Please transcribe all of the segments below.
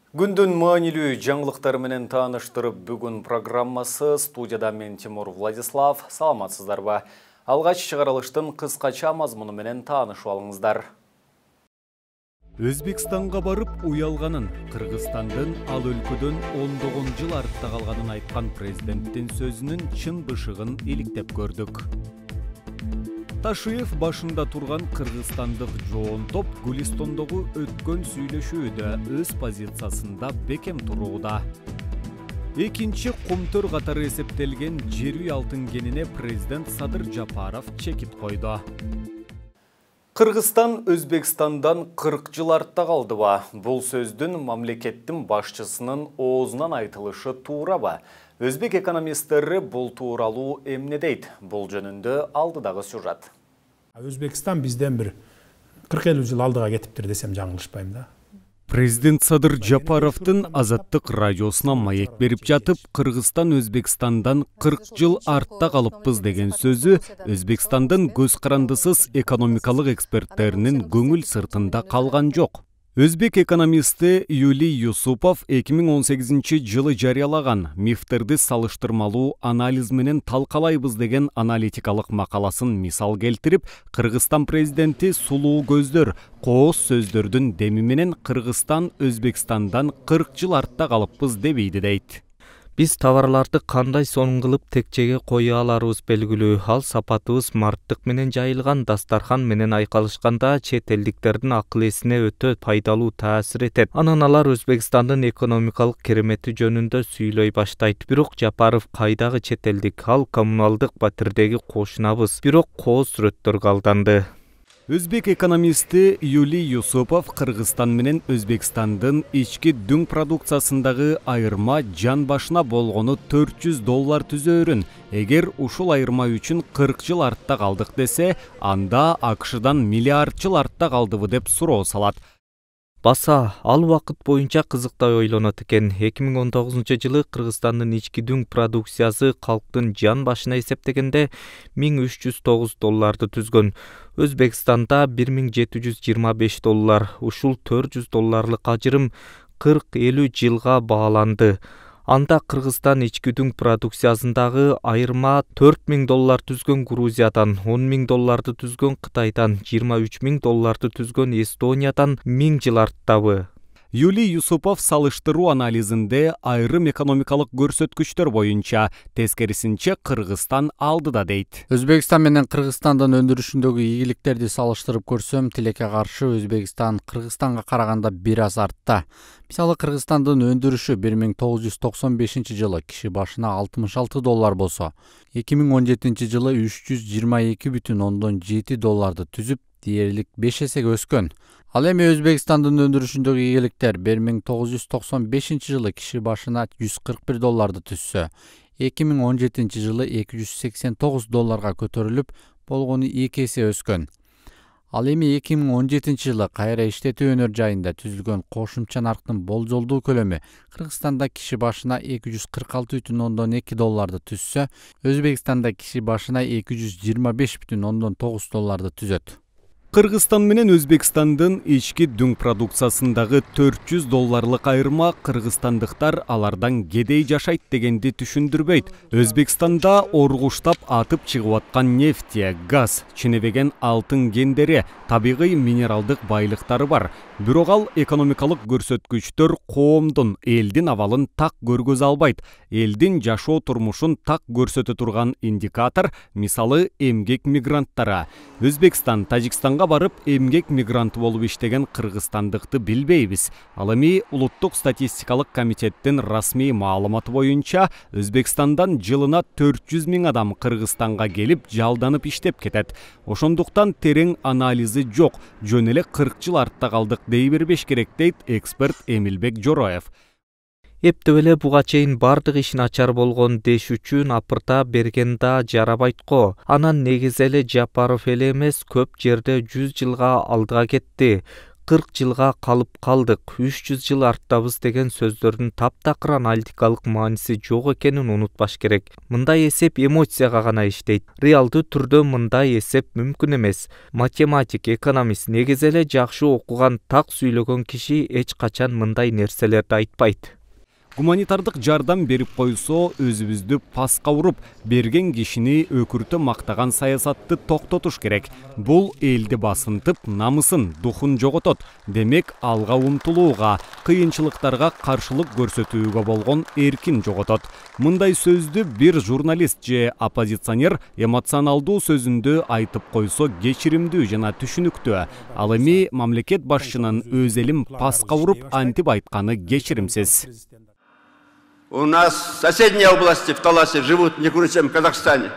Күндүн маанилүү жаңылыктары менен тааныштырып бүгүн программасы студияда мен Тимур Владислав. Саламатсыздарбы? Алгач чыгарылыштын кыскача мазмуну менен таанышып алыңыздар. Өзбекстанга барып уялганын, Кыргызстандын ал өлкөдөн ондогон жыл артта калганын айткан президенттин сөзүнүн чын бышыгын иликтеп көрдүк. Ташиев башында турган кыргызстандык жоон топ Гулистондогу өткөн сүйлөшүүдө өз позициясында бекем турууда. Экинчи кумтөр катары эсептелген жер үй алтын кенине президент Садыр Жапаров чекит койду. Кыргызстан Өзбекстандан 40 жыл артта калдыбы? Бул сөздүн мамлекеттин башчысынын оозунан айтылышы туурабы? Өзбек экономисттери бул тууралуу эмне дейт? Бул жөнүндө алдыдагы сюжет. Өзбекстан бизден бир 40-50 жыл алдыга кетиптир десем жаңылышпайм да. Президент Садыр Жапаровдун Азаттык радиосуна маек берип жатып, Кыргызстан Өзбекстандан 40 жыл артта калыппыз деген сөзү Өзбекстандын көз карандысыз экономикалык эксперттеринин көңүл сыртында калган жок. Өзбек экономисти Юлий Юсупов 2018 жылы жарыялаган мифтерди салыштырмалуу анализ менен талкалайбыз деген аналитикалык макаласын мисал келтирип, Кыргызстан президенти сулуу көздөр, кооз сөздөрдүн деми менен Кыргызстан Өзбекстандан 40 жыл артта калыппыз дебейди дейт. Биз товарларды кандай сонун кылып текчеге кое аларыбыз белгилүү. Ал сапатыбыз марттык менен жайылган дастархан менен айкалышканда чет элдиктердин акыл эсине өтө пайдалуу таасир этет. Анан алар Өзбекстандын экономикалык керемети жөнүндө сүйлөй баштайт. Бирок Жапаров кайдагы чет элдик? Ал коммуналдык батирдеги кошунабыз. Бирок кооз сүрөттөргө алданды. Өзбек экономисти Юлий Юсупов Кыргызстан менен Өзбекстандын ички дүң продукциясындагы айырма жан башына болгону $400 түзөөрүн, эгер ушул айырма үчүн 40 жыл артта калдык десе, анда АКШдан миллиард жыл артта калдыбы деп суроо салат. Баса, ал вакыт боюнча кызыктай ойлонот экен. 2019 жылы Кыргызстандын ички дүң продукциясы калктын жан башына эсептегенде $1309 түзгөн. Өзбекстанда $1725. Ушул $400 ажырым 40-50 жылга бааланды. Анда Кыргызстан ички дүң продукциясындагы айырма $4000 түзгөн Грузиядан, $10.000 түзгөн Кытайдан, $23.000 түзгөн Эстониядан 1000 жыл арттабы. Юлий Юсупов салыштыруу анализинде айрым экономикалык көрсөткүчтөр боюнча тескерисинче Кыргызстан алдыда дейт. Өзбекстан менен Кыргызстандын өндүрүшүндөгү ийгиликтерди салыштырып көрсөм, тилекке каршы Өзбекстан Кыргызстанга караганда бир аз артта. Мисалы, Кыргызстандын өндүрүшү 1995 жылы киши башына $66 болсо, 2017 жылы $322,7 түзүп, дээрлик 5 эсеге өскөн. Ал эми Өзбекстандын өндүрүшүндөгү ийгиликтер 1995 жылы киши башына $141 түзсө, 2017 жылы $289 көтөрүлүп, болгону 2 эсе өскөн. Ал эми 2017 жылы кайра иштетүү өнөр жайында түзүлгөн кошумча нарктын болжолдуу көлөмү Кыргызстанда киши башына $246,2 түзсө, Өзбекстанда киши башына $225,9 түзөт. Кыргызстан менен Өзбекстандын ички дүң продукциясындагы $400 айырма кыргызстандыктар алардан кедей жашайт дегенди түшүндүрбөйт. Өзбекстанда оргуштап атып чыгып аткан нефть, газ, ченебеген алтын кендери, табигый минералдык байлыктары бар. Бирок ал экономикалык көрсөткүчтөр коомдун, элдин абалын так көргөзө албайт. Элдин жашоо турмушун так көрсөтө турган индикатор, мисалы, эмгек мигранттары. Өзбекстан, Тажикстанга барып эмгек мигранты болуп иштеген кыргызстандыкты билбейбиз. Ал эми улуттук статистикалык комитеттин расмий маалыматы боюнча Өзбекстандан жылына 400 000 адам Кыргызстанга келип жалданып иштеп кетет. Ошондуктан терең анализи жок, жөн эле 40 жыл артта калдык дей бербеш керек дейт эксперт Эмилбек Жороев. Эптеп эле буга чейин бардык иш начар болгон деш үчүн апырта берген да жарабайт го. Анан негизи эле Жапаров эле эмес, көп жерде 100 жылга алдыга кетти. 40 жылга калып калдык, 300 жыл арттабыз деген сөздөрдүн таптакыр аналитикалык мааниси жок экенин унутпаш керек. Мындай эсеп эмоцияга гана иштейт. Реалдуу түрдө мындай эсеп мүмкүн эмес. Математик, экономист, негизи эле жакшы окуган, так сүйлөгөн киши эч качан мындай нерселерди айтпайт. Гуманитардык жардам берип койсо, өзүбүздү паска уруп, берген кишини өкүртө мактаган саясатты токтотуш керек. Бул элди басынтып, намысын, духун жоготот. Демек, алга умтулууга, кыйынчылыктарга каршылык көрсөтүүгө болгон эркин жоготот. Мындай сөздү бир журналист же оппозиционер эмоционалдуу сөзүндө айтып койсо кечиримдүү жана түшүнүктүү. Ал эми мамлекет башчынын өз элин паска уруп антип айтканы кечиримсиз. У нас в соседней области, в Таласе, живут не хуже, чем в Казахстане.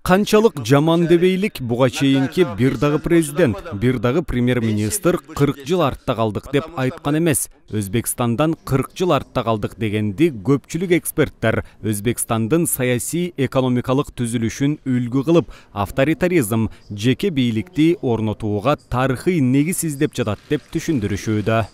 Канчалык жаман дебейлик буга чейинки бир дагы президент, бир дагы премьер-министр 40 жыл артта калдык деп айткан эмес. Өзбекстандан 40 жыл артта калдык дегенди көпчүлүк эксперттер Өзбекстандын саясий экономикалык түзүлүшүн үлгү кылып, авторитаризм, жеке бийликти орнотууга тарыхый негиз издеп жатат деп түшүндүрүшүүдө.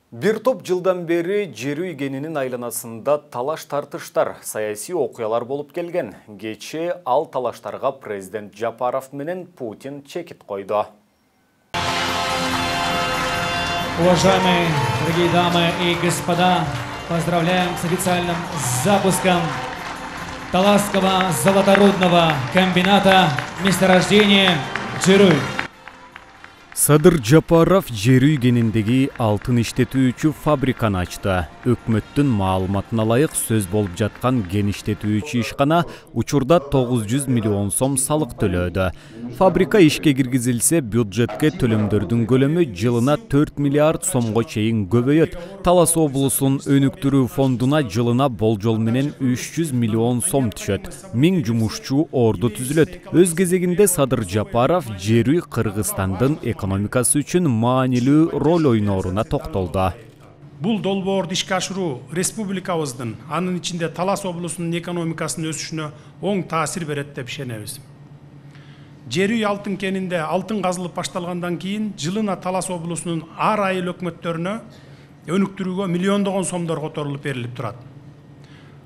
Бир топ жылдан бери жер үйгенинин айланасында талаш-тартыштар, саясий окуялар болуп келген. Кечээ ал талаштарга президент Жапаров менен Путин чекит койду. Уважаемые дорогие дамы и господа, поздравляем с официальным запуском Таласского золоторудного комбината месторождения Джеруй. Садыр Жапаров жер үйгениндеги алтын иштетүүчү фабриканы ачты. Өкмөттүн маалыматына ылайык сөз болуп жаткан кен иштетүүчү ишкана учурда 900 миллион сом салык төлөөдө. Фабрика ишке киргизилсе, бюджетке төлөмдөрдүн көлөмү жылына 4 миллиард сомго чейин көбөйөт. Талас облусунун өнүктүрүү фондуна жылына болжол менен 300 миллион сом түшөт. 1000 жумушчу орду түзүлөт. Өз кезегинде Садыр Жапаров жер үй Кыргызстандын экономикасы үчүн маанилүү роль ойнооруна токтолду. Бул долбоорду ишке ашыруу республикабыздын, анын ичинде Талас облусунун экономикасынын өсүшүнө оң таасир берет деп ишенебиз. Жер үй алтын кенинде алтын казылып башталгандан кийин жылына Талас облусунун ар айыл өкмөттөрүнө өнүктүрүүгө миллиондогон сомдор которулуп берилип турат.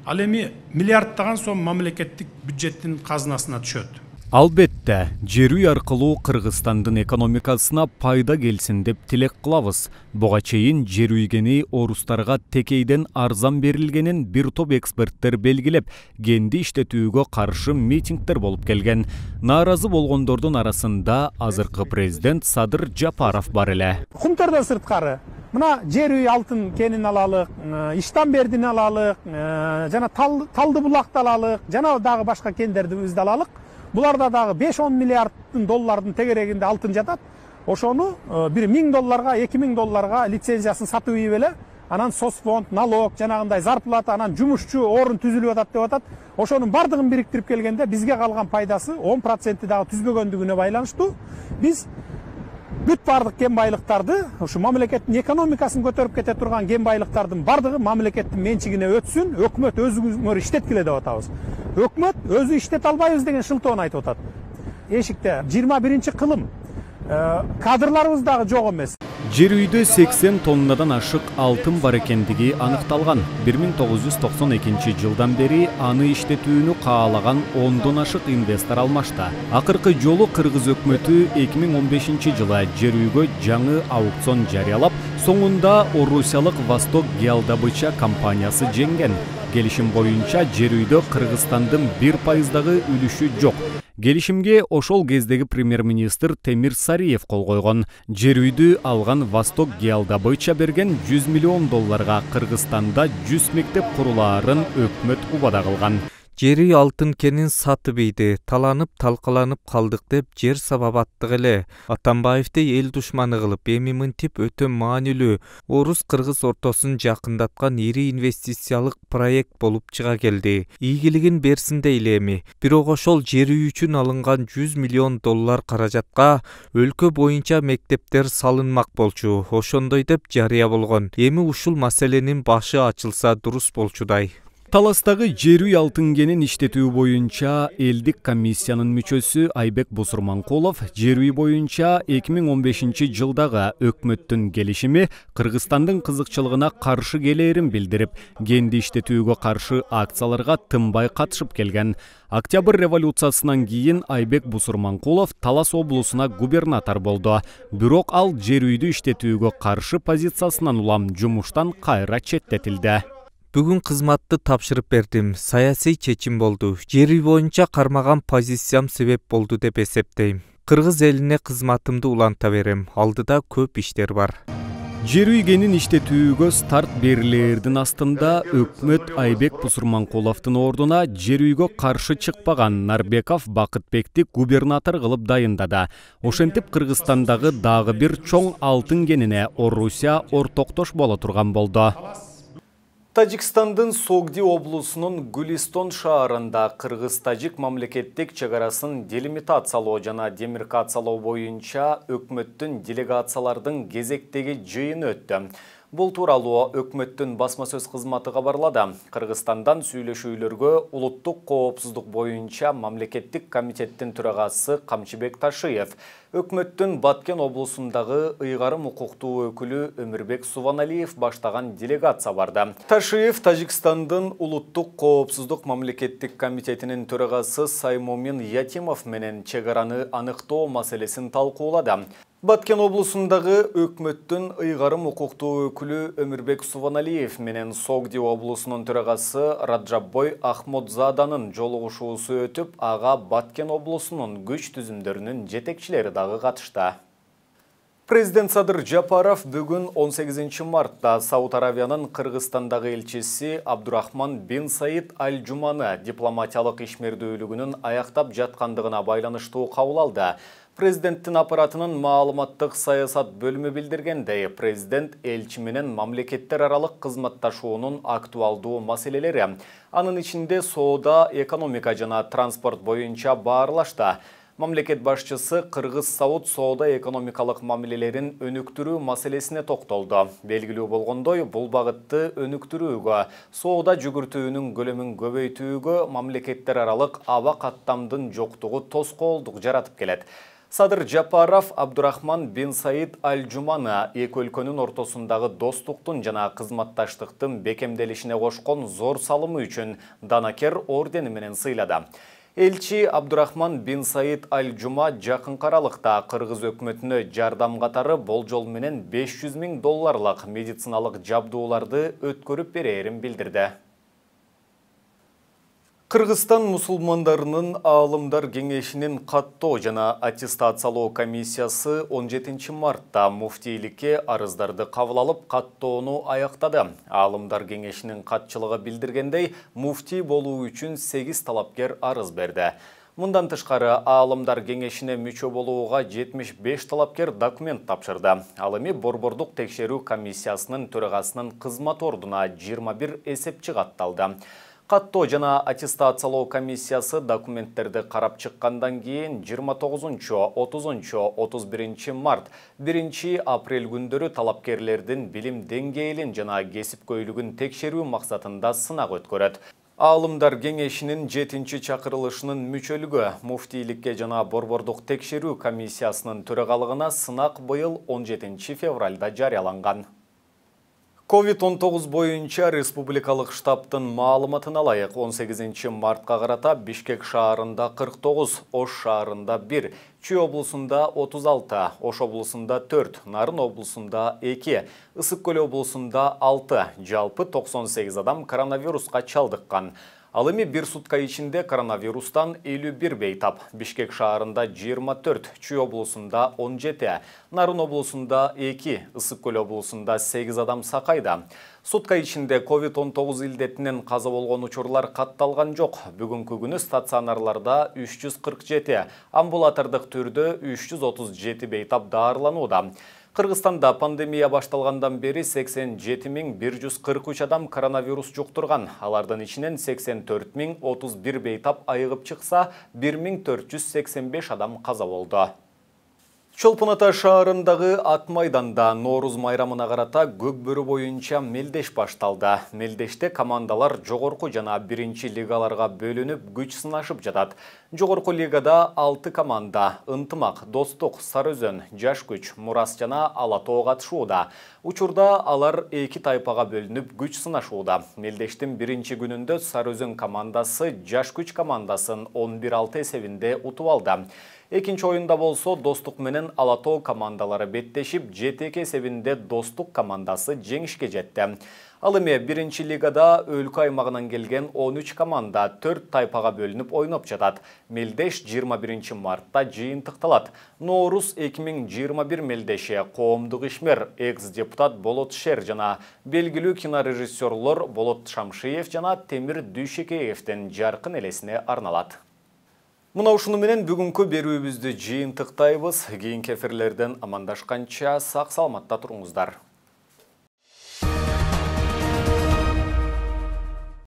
Ал эми миллиарддаган сом мамлекеттик бюджеттин казынасына түшөт. Албетте, жер үй аркылуу Кыргызстандын экономикасына пайда келсин деп тилек кылабыз. Буга чейин жер үйгени орустарга текейден арзан берилгенин бир топ эксперттер белгилеп, кенди иштетүүгө каршы митингдер болуп келген. Нааразы болгондордун арасында азыркы президент Садыр Жапаров бар эле. Кумтөрдөн сырткары мына жер үй алтын кенин алалык, Иштанбердин алалык, жана Талды булакты алалык, жана дагы башка кендерди өзү алалык. Буларда дагы 5-10 миллиарддын доллардын тегерегинде алтын жатат. Ошону бир 1000 долларга, 2000 долларга лицензиясын сатып ийип эле, анан соцфонд, налог, жанагындай зарплата, анан жумушчу орун түзүлүп атат деп атат. Ошонун бардыгын бириктирип келгенде бизге калган пайдасы 10% дагы түзбөгөндүгүнө байланыштуу. Биз бүт бардык кен байлыктарды, ушу мамлекеттин экономикасын көтөрүп кете турган кен байлыктардын бардыгы мамлекеттин менчигине өтсүн, өкмөт өзүңөр иштеткиле деп атабыз. Өкмөт өзү иштете албайбыз деген шылтоон айтып атат. Эшикте 21-кылым. Кадрларыбыз дагы жок эмес. Жер үйдө 80 тоннадан ашык алтын бар экендиги аныкталган. 1992 жылдан бери аны иштетүүнү каалаган 10дон ашык инвестор алмашта. Акыркы жолу Кыргыз өкмөтү 2015 жылы жер үйгө жаңы аукцион жарыялап, соңунда Орусиялык Восток Геодобыча компаниясы жеңген. Келишим боюнча жер үйдө Кыргызстандын 1% үлүшү жок. Келишимге ошол кездеги премьер-министр Темир Сариев кол койгон. Жер үйдү алган Восток Геодобыча берген 100 миллион долларга Кыргызстанда 100 мектеп курулаарын өкмөт убада кылган. Жер үй алтын кенин сатып ийди, таланып талкаланып калдык деп жер сабабаттык эле. Атамбаевди эл душманы кылып, эми мынтип өтө маанилүү орус-кыргыз ортосун жакындаткан ири инвестициялык проект болуп чыга келди. Ийгилигин берсин дейли эми. Бирок ошол жер үй үчүн алынган 100 миллион доллар каражатка өлкө боюнча мектептер салынмак болчу. Ошондой деп жарыя болгон. Эми ушул маселенин башы ачылса дурус болчудай. Таластагы жер үй алтын кенин иштетүү боюнча элдик комиссиянын мүчөсү Айбек Бусурманкулов жер үй боюнча 2015 жылдагы өкмөттүн келишими Кыргызстандын кызыкчылыгына каршы келээрин билдирип, кенди иштетүүгө каршы акцияларга тынбай катышып келген. Октябрь революциясынан кийин Айбек Бусурманкулов Талас облусуна губернатор болду. Бирок ал жер үйдү иштетүүгө каршы позициясынан улам жумуштан кайра четтетилди. Бүгүн кызматты тапшырып бердим. Саясий чечим болду. Жер үй боюнча кармаган позициям себеп болду деп эсептейм. Кыргыз элине кызматымды уланта берем. Алдыда көп иштер бар. Жер үй кенин иштетүүгө старт берилердин астында өкмөт Айбек Бусурманкуловдун ордуна жер үйгө каршы чыкпаган Нарбеков Бакытбекти губернатор кылып дайындады. Ошентип Кыргызстандагы дагы бир чоң алтын кенине Орусия ортоктош боло турган болду. Тажикстандын Согди облусунун Гулистон шаарында Кыргыз-Тажик мамлекеттик чегарасын делимитациялоо жана демаркациялоо боюнча өкмөттүн делегациялардын кезектеги жыйыны өттү. Бул тууралуу өкмөттүн басма сөз кызматы кабарлады. Кыргызстандан сүйлөшүүлөргө улуттук коопсуздук боюнча мамлекеттик комитеттин төрагасы Камчыбек Ташиев, өкмөттүн Баткен облусундагы ыйгарым укуктуу өкүлү Өмүрбек Субаналиев баштаган делегация барды. Ташиев Тажикстандын улуттук коопсуздук мамлекеттик комитетинин төрагасы Саймомин Ятимов менен чегараны аныктоо маселесин талкуулады. Баткен облусундагы өкмөттүн ыйгарым укуктуу өкүлү Өмүрбек Субаналиев менен Согди облусунун төрагасы Раджаббой Ахмодзаданын жолугушуусу өтүп, ага Баткен облусунун күч түзүмдөрүнүн жетекчилери дагы катышты. Президент Садыр Жапаров бүгүн 18 мартта Сауд Аравиянын Кыргызстандагы элчиси Абдурахман бин Саид Аль-Жуманы дипломатиялык ишмердүүлүгүнүн аяктап жаткандыгына байланыштуу кабыл алды. Президенттин аппаратынын маалыматтык саясат бөлүмү билдиргендей, президент элчи менен мамлекеттер аралык кызматташуунун актуалдуу маселелери, анын ичинде соода, экономика жана транспорт боюнча баарлашты. Мамлекет башчысы Кыргыз-Сауд соода-экономикалык мамилелерин өнүктүрүү маселесине токтолду. Белгилүү болгондой, бул багытты өнүктүрүүгө, соода жүгүртүүнүн көлөмүн көбөйтүүгө мамлекеттер аралык аба каттамдын жоктугу тоскоолдук жаратып келет. Садыр Жапаров Абдурахман бин Саид Аль-Жуманы эки өлкөнүн ортосундагы достуктун жана кызматташтыктын бекемделишине кошкон зор салымы үчүн Данакер ордени менен сыйлады. Элчи Абдурахман бин Саид Аль-Жума жакынкы аралыкта Кыргыз өкмөтүнө жардам катары болжол менен $500,000 медициналык жабдууларды өткөрүп берээрин билдирди. Кыргызстан мусулмандарынын Аалымдар кеңешинин каттоо жана аттестациялоо комиссиясы 17 мартта муфтийликке арыздарды кабыл алып, каттоону аяктады. Аалымдар кеңешинин катчылыгы билдиргендей, муфтий болуу үчүн 8 талапкер арыз берди. Мындан тышкары Аалымдар кеңешине мүчө болууга 75 талапкер документ тапшырды. Ал эми Борбордук текшерүү комиссиясынын төрагасынын кызмат ордуна 21 эсепчи катталды. Каттоо жана аттестациялоо комиссиясы документтерди карап чыккандан кийин 29-30-31 март 1 апрель күндөрү талапкерлердин билим деңгээлин жана кесипкөйлүгүн текшерүү максатында сынак өткөрөт. Аалымдар кеңешинин 7-чакырылышынын мүчөлүгү муфтийликке жана Борбордук текшерүү комиссиясынын төрагалыгына сынак быйыл 17 февралда жарыяланган. COVID-19 боюнча республикалык штабтын маалыматына ылайык 18 мартка карата Бишкек шаарында 49, Ош шаарында 1, Чүй облусунда 36, Ош облусунда 4, Нарын облусунда 2, Ысык көл облусунда 6, жалпы 98 адам коронавируска чалдыккан. Ал эми бир сутка ичинде коронавирустан 51 бейтап. Бишкек шаарында 24, Чүй облусунда 17, Нарын облусунда 2, Ысык көл облусунда 8 адам сакайда. Сутка ичинде COVID-19 илдетинен каза болгон учурлар катталган жок. Бүгүнкү күнү стационарларда 347, амбулатордук түрдө 337 бейтап даарыланууда. Кыргызстанда пандемия башталгандан бери 87.143 адам коронавирус жуктурган. Алардын ичинен 84.031 бейтап айыгып чыкса, 1485 адам каза болду. Чолпон Ата шаарындагы Ат майданда Нооруз майрамына карата Көкбөрү боюнча мелдеш башталды. Мелдеште командалар жогорку жана биринчи лигаларга бөлүнүп күч сынашып жатат. Жогорку лигада 6 команда Ынтымак, Достук, Сары Өзөн, Жаш күч, Мурас жана Ала Тоо катышууда. Учурда алар 2 тайпага бөлүнүп күч сынашууда. Мелдештин биринчи күнүндө Сары Өзөн командасы Жаш күч командасын 11-6 эсебинде утуп алды. Экинчи оюнда болсо Достук менен Ала Тоо командалары беттешип, 7-2 эсебинде Достук командасы жеңишке жетти. Ал эми биринчи лигада өлкө аймагынан келген 13 команда 4 тайпага бөлүнүп ойноп жатат. Мелдеш 21 мартта жыйынтыкталат. Нооруз 2021 мелдеши коомдук ишмер, экс-депутат Болот Шер жана белгилүү кинорежиссерлор Болот Шамшиев жана Темир Дүйшекеевдин жаркын элесине арналат. Мына ушуну менен бүгүнкү берүүбүздү жыйынтыктайбыз. Кийинки эфирлерден амандашканча сак саламатта туруңуздар.